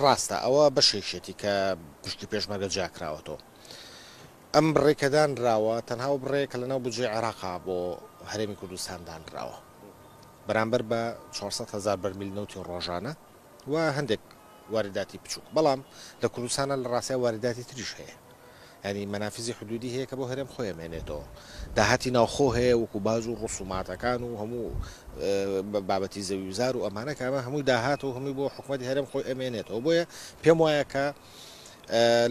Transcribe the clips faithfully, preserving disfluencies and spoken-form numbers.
ڕاستە ئەوە بەشێکێتی کە پشکی پێشمەرگە جیاکراوەتەوە. ئەم بڕێکە دانراوە تەنها و بڕێکە لەناو بودجەی عێراقا بۆ هەرێمی کوردستان دانراوە بەرامبەر بە چوار سەد هەزار بەرمیل نەوتی ڕۆژانە و هەندێک وارداتی بچووک. بەڵام لە کوردستانە لە ڕاستیا وارداتی تریش هەیە، ینی مەنافیزی حدودی هەیە کە بۆ هەرێم خۆی ئەمێنێتەوە، داهاتی ناوخۆ هەیە وەکو باج و ڕسوماتەکان و هەموو بابەتی زەوی و زار و ئەمانە کە ئەمە هەمووی داهات و هەمووی بۆ حکوومەتی هەرێم خۆی ئەمێنێتەوە. بۆیە پێم وایە کە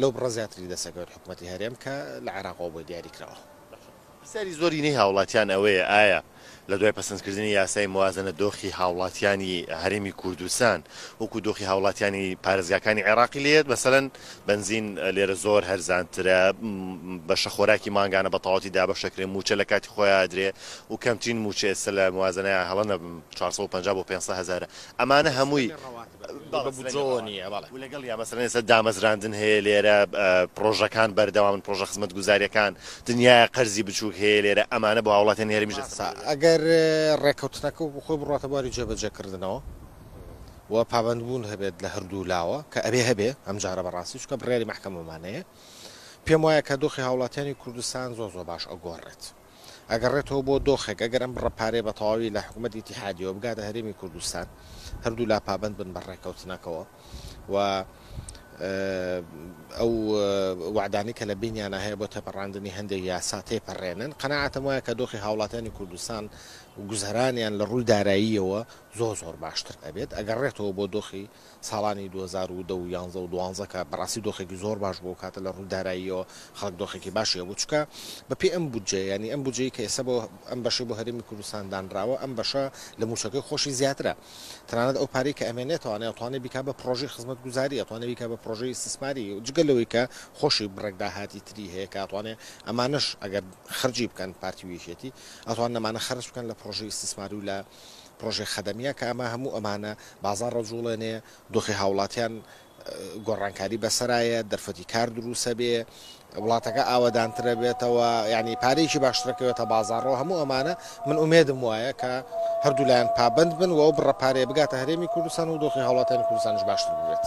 لەو بڕە زیاتری دەسەکەوێت حکوومەتی هەرێم کە لە عێراقەوە بۆی دیاری کراوە. پرسیاری زۆرینەی هاوڵاتیان ئەوەیە ئایا لە دوای پەسەندکردنی یاسای موازنە دۆخی هاوڵاتیانی هەرێمی کوردستان وەکو دۆخی هاوڵاتیانی پارێزگاکانی عێراقی لێت؟ مەسەلەن بەنزین لێرە زۆر هەرزانترە، بەشە خۆراکی مانگانە بە تەواوەتی دابەشەکرێ، موچە لە کاتی خۆیان ئەدرێ و کەمترین موچە ئێستا لە موازنەیە هەڵە نەبم چوار سەد و پەنجا بۆ پێنج سەد هەزارە. ئەمانە هەمووی و لەگەڵ یا مەسەلەن ئێستا دامەزراندن هەیە لێرە، پرۆژەکان بەردەوامن، پرۆژە خزمەتگوزاریەکان، دنیای قەرزی بچووک هەیە لێرە. ئەمانە بۆ هاوڵاتیانی هەرێمیش دەستەبەر. ئەگەر ڕێککەوتنەکە خۆی بڕاتە بواری جێبەجێکردنەوە و پابەندبوون هەبێت لە هەردوو لاوە کە ئەبێ هەبێ ئەمجارە بەڕاستی، چونکە بڕیاری مەحکەمەمانەیە، پێم وایە کە دۆخی هاوڵاتیانی کوردستان زۆر زۆر باش ئەگۆڕێت. ئەگەڕێتەوە بۆ دۆخێک ئەگەر ئەم بڕە پارەیە بە تەواوی لە حکوومەتی ئیتیحادیەوە بگاتە هەرێمی کوردستان، هەردوو لا پابەند بن بە ڕێککەوتنەکەوە و ئەو وعدانی کە لە بینیانە هەیە بۆ تێپەڕاندنی هەندێک یاسا تێپەڕێنن، قەناعەتم وایە کە دۆخی هاوڵاتیانی کوردستان و گوزەرانیان لە ڕووی داراییەوە زۆر زۆر باشتر ئەبێت. ئەگەڕێتەوە بۆ دۆخی ساڵانی دوو هەزار و دە و یانزە و دوانزە کە بەڕاستی دۆخێکی زۆر باش بوو، کاتە لە ڕووی داراییەوە خەڵک دۆخێکی باشی هەبوو، چونکە بەپێی ئەم بودجەیە، ینی ئەم بودجەی کە ئێستا بۆ ئەم بەشەی بۆ هەرێمی کوردستان دانراوە، ئەم بەشە لە موچەکەی خۆشی زیاترە. تەنانەت ئەو پارەی کە ئەمێنێتەوانێ ئەتوانێ بیکا بە پرۆژەی خزمەتگوزاری، ئەتوانێ بیکا بە پرۆژەی ئیستیسماری، جگە لەوەی کە خۆشی بڕێک داهاتی تری هەیە کە ئەتوانێ ئەمانەش ئەگەر خەرجی بکەن پارتی و یەکێتی ئەتوانن ئەمانە خەرج بکەن لە پرۆژەی ئیستیسماری و لە پرۆژەی خەدەمیە، کە ئەمە هەموو ئەمانە بازاڕ ڕەجوڵێنێ، دۆخی هاوڵاتیان گۆڕانکاری بەسەرایە، دەرفەتی کار دروستە بێ، وڵاتەکە ئاوەدانترە بێتەوە، ینی پارەیەکی باشترەکەوێتە بازاڕەوە. هەموو ئەمانە من ئومێدم وایە کە هەردوو لایەن پابەند بن و ئەو بڕە پارەیە بگاتە هەرێمی کوردستان و دۆخی هاوڵاتیانی کوردستانش باشتر ببێت.